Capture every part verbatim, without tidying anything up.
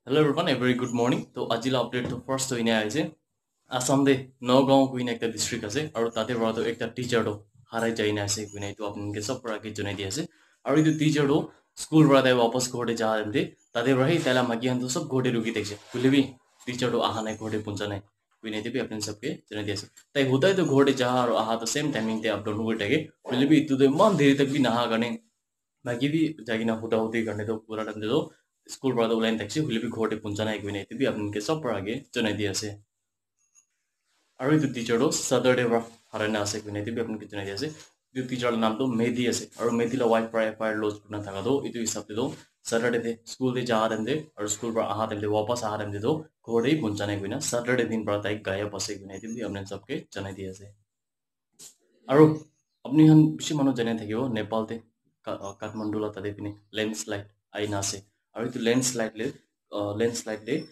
Hello everyone, a very good morning. To aji la update to first to ine aise. Assam de Nagaon kuina ekta district ase, aru tate para to ekta teacher to harai jai na ase kuina etu apni ke sab para ke janai di ase. Aru etu teacher to school para tai wapas ghor te ja time te tate para hi tai la maki khan to sab ghor te ruki thakise. Hoile bi teacher to aha nai, ghor te puncha nai kuina etu bi apni sab ke janai di ase. Tai hudai to ghor te ja aru aha to same timing te up down kuri thake. Hoile bi etu to iman deri tak bi naha karne maki bi jai kena huda hudi karne to pura time te to school para to ulai na thakise, hoile bi ghor te puncha nai kuina etu bi apni ke sab para ke janai di ase. Aru etu teacher to Saturday para harai na ase kuina etu bi apni ke janai di ase. Etu teacher la naam to Mehdi ase. Aru Mehdi la wife para F I R lodge kurina thaka to etu hisab te to Saturday te school te ja time te aru school para aha time te wapas aha time te to ghor te puncha nai kuina Saturday din para tai gayab ase kuina etu bi apni sab ke janai di ase. Aru apni khan bishi manu jane thakibo, Nepal te Ka- uh, Kathmandu la tate pine landslide aina ase. Aru etu landslide le uh, landslide le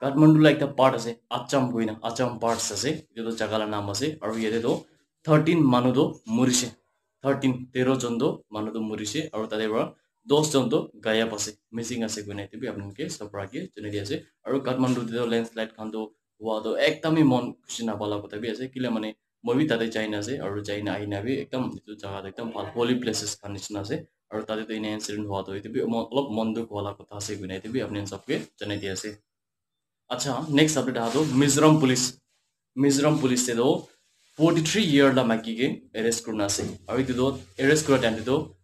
Kathmandu la ekta part ase, Acham koina Acham parts ase, etu to jaga la naam ase. Aru yate to thirteen manu to murise, thirteen tero jon to manu to murise aru tate para dos jon to gayab ase, missing ase koina etu bi apni ke sab para ke janai di ase. Aru Kathmandu te to landslide khan to hua to ekdam hi mon khushi napa la kotha bi ase, kile mane moi bi tate jai na ase aru jai na ahi na bi ekdam etu jaga to ekdam bhal holy places khan nishina ase. Aru tate to ena incident hua to etu bi mon- olop mon dukh wala kotha ase koina etu bi apni khan sab ke janai di ase. Acha, next update aha to Mizoram police. Mizoram police te to forty three year la maki ke arrest kurina ase. Aru etu to arrest kura time te to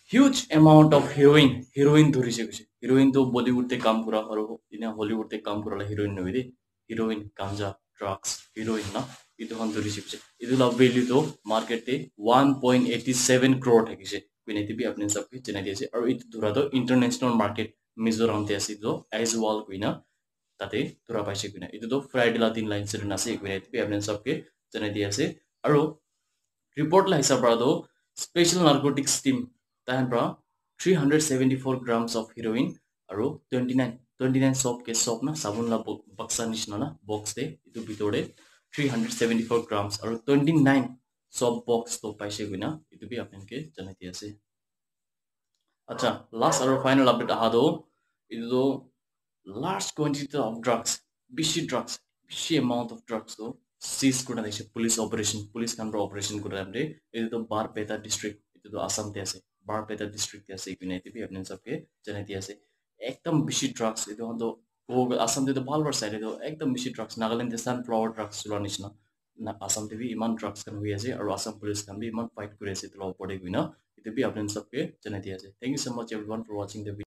huge amount of heroin, heroin dhurise koise. Heroin to Bollywood te kam kura aru ena Hollywood te kam kura la heroin nohoi de. Heroin, ganja, drugs, heroin na, etu khan dhuri shikise. Etu la value to market te one point eighty seven crore thakise. Koina etu bi apni sab ke janai di ase. Aru etu dhura to international market Mizoram te ase, etu to Aizawl koina tate dhura paise koina. Etu to Friday la din la incident ase koina etu bi apni sab ke janai di ase. Aru report la hisab para to special narcotics team tai khan para three hundred seventy four grams of heroin aru twenty nine, twenty nine soap ke, soap na sabun la bo- baksa nishina na box te etu bitor te three hundred seventy four grams aru twenty nine soap box to paise koina etu bi apni ke janai di ase. Acha, last aru final update aha to etu to large quantity of drugs, bishi drugs, bishi amount of drugs to seize kurina thakise police operation, police khan para operation kura time te. Etu to Barpeta district, etu to Assam te ase, Barpeta district te ase koina etu bi apni sab ke janai di ase. Ekdam bishi drugs etu khan to, oh, Assam te to bhal para sai le to ekdam bishi drugs, Nagaland te sunflower drugs chula nishina na Assam te bi iman drugs khan hoi ase aru Assam police khan bi iman fight kuri ase etu la opor te koina etu bi apni sab ke janai di ase. Thank you so much everyone for watching the video.